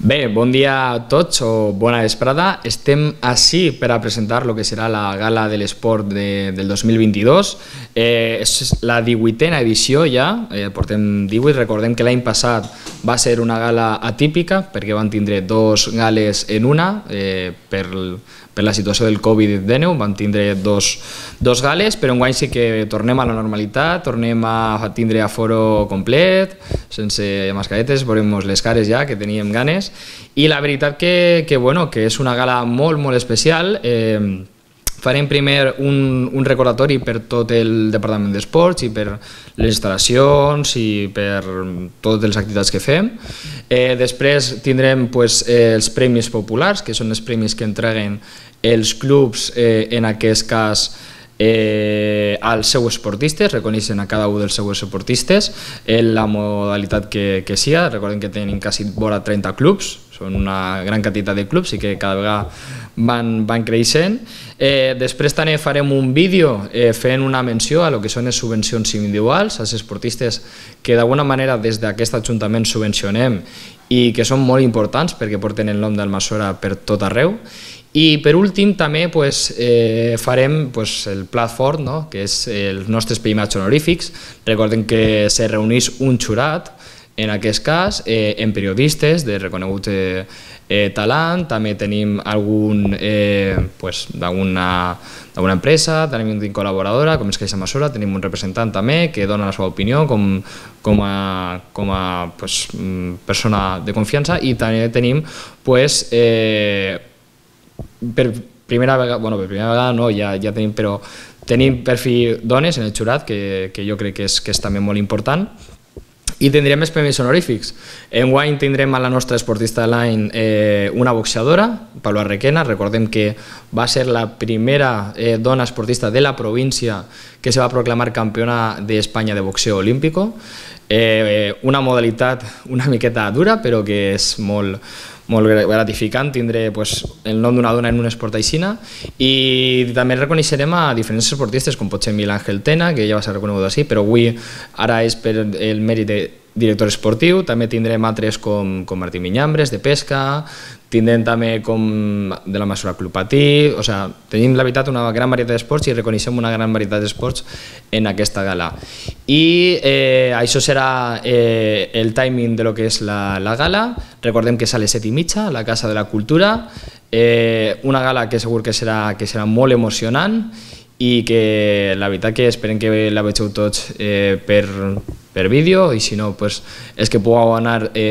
Bé, bon dia a tots o bona vesprada. Estem ací per a presentar el que serà la gala de l'esport del 2022. És la 18a edició ja, portem 18. Recordem que l'any passat va ser una gala atípica perquè van tindre dos gales en una per la situació del Covid-19, van tindre dos gales, però enguany sí que tornem a la normalitat, tornem a tindre aforo complet, sense mascaretes, veurem les cares ja, que teníem ganes, i la veritat que és una gala molt especial. Farem primer un recordatori per tot el Departament d'Esports i per les instal·lacions i per totes les activitats que fem. Després tindrem els premis populars, que són els premis que entreguen els clubs, en aquest cas als seus esportistes, reconeixen a cada un dels seus esportistes en la modalitat que sigui. Recordem que tenim quasi vora 30 clubs, són una gran quantitat de clubs i que cada vegada van creixent. Després també farem un vídeo fent una menció a lo que són les subvencions individuals als esportistes que d'alguna manera des d'aquest Ajuntament subvencionem i que són molt importants perquè porten el nom d'Almassora per tot arreu. I per últim també farem el plat fort, que és els nostres primats honorífics. Recordem que se reuneix un jurat, en aquest cas, en periodistes de reconegut talent. També tenim d'alguna empresa, tenim una col·laboradora, com és Caixa Almassora, tenim un representant també que dona la seva opinió com a persona de confiança, i també tenim per primera vegada no, ja tenim, però tenim per fi dones en el jurat, que jo crec que és també molt important. I tindrem els premis honorífics. Enguany tindrem a la nostra esportista de l'any una boxeadora, Paula Requena. Recordem que va ser la primera dona esportista de la província que se va proclamar campiona d'Espanya de boxeo olímpico. Una modalitat una miqueta dura, però que és molt gratificant tindre el nom d'una dona en un esport aixina. I també reconeixerem a diferents esportistes, com pot ser Miguel Ángel Tena, que ja va ser reconegut així, però avui ara és per el mèrit de director esportiu. També tindrem altres com Martí Minyambres, de pesca, tindrem també com de l'Almassora Club Patí. Tenim, la veritat, una gran varietat d'esports i reconeixem una gran varietat d'esports en aquesta gala. I això serà el timing de lo que és la gala. Recordem que és a les 7:30 a la Casa de la Cultura, una gala que segur que serà molt emocionant i que la veritat que esperem que la vegeu tots per vídeo, i si no és que pugueu anar